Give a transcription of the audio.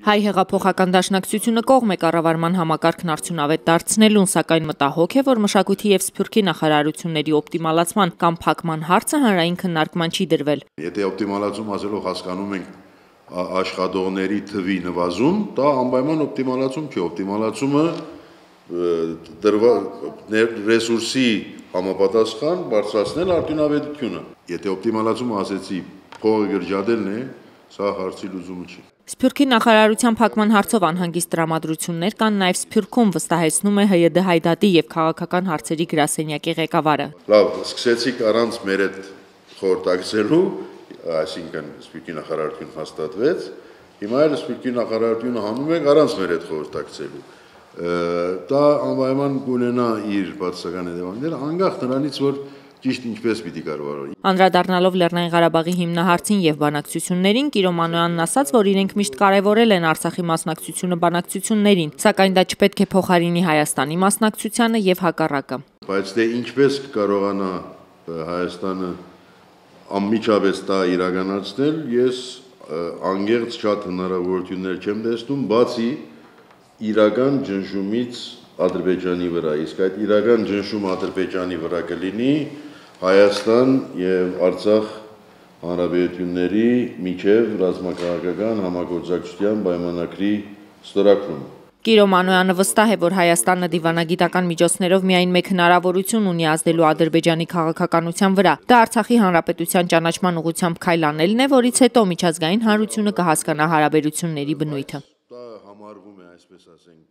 Հայ հեղափոխական դաշնակցությունը կողմ է կառավարման համակարգն արդյունավետ դարձնելուն, սակայն մտահոգ է, որ մշակույթի եւ սփյուռքի նախարարությունների օպտիմալացման կամ փակման հարցը հանրային քննարկման չի դրվել։ Եթե օպտիմալացում ասելով հասկանում ենք աշխատողների թվի նվազում, դա անպայման օպտիմալացում չի, օպտիմալացումը ռեսուրսի համապատասխան բարձրացնել արդյունավետությունը։ Եթե օպտիմալացումը ասեցի փողը գրջադելն է, սա հարցի լուծումը չի։ Սփյուռքի նախարարության փակման հարցով անհանգիստ տրամադրություններ կան նաև Սփյուռքում, վստահեցնում է ՀՅԴ Հայդատի եւ քաղաքական հարցերի գրասենյակի ղեկավարը։ Լավ, սկսեցիք առանց մեր հետ խորհրդակցելու, այսինքն Սփյուռքի նախարարություն հաստատվեց, հիմա էլ Սփյուռքի նախարարությունը հանում է առանց մեր հետ խորհրդակցելու։ Դա անպայման կունենա իր բացասական հետևանքները, անկախ նրանից, որ ճիշտ ինչպես պիտի կառավարվի։ Անդրադառնալով Լեռնային Ղարաբաղի հիմնահարցին եւ բանակցություններին, Կիրո Մանոյանն ասաց, որ իրենք միշտ կարևորել են Արցախի մասնակցությունը բանակցություններին, սակայն դա չպետք է փոխարինի Հայաստանի մասնակցությանը եւ հակառակը։ Բայց դե ինչպես կարողանա Հայաստանը անմիջապես դա իրականացնել, ես անգերց շատ հնարավորություններ չեմ տեսնում, բացի իրական ջնջումից Ադրբեջանի վրա, իսկ այդ իրական ջնջումը Ադրբեջանի վրա կլինի Հայաստան եւ Արցախ հանրապետությունների միջև ռազմաքաղաքական համագործակցության պայմանագրի ստորագրումը։ Կիրո Մանոյանը վստահ է, որ Հայաստանը դիվանագիտական միջոցներով միայն մեկ հնարավորություն ունի ազդելու Ադրբեջանի քաղաքականության վրա։ Դա Արցախի հանրապետության ճանաչման ուղղությամբ քայլ անելն է, որից հետո միջազգային հանրությունը կհասկանա հարաբերությունների բնույթը։ Դա համարվում է, այսպես ասենք,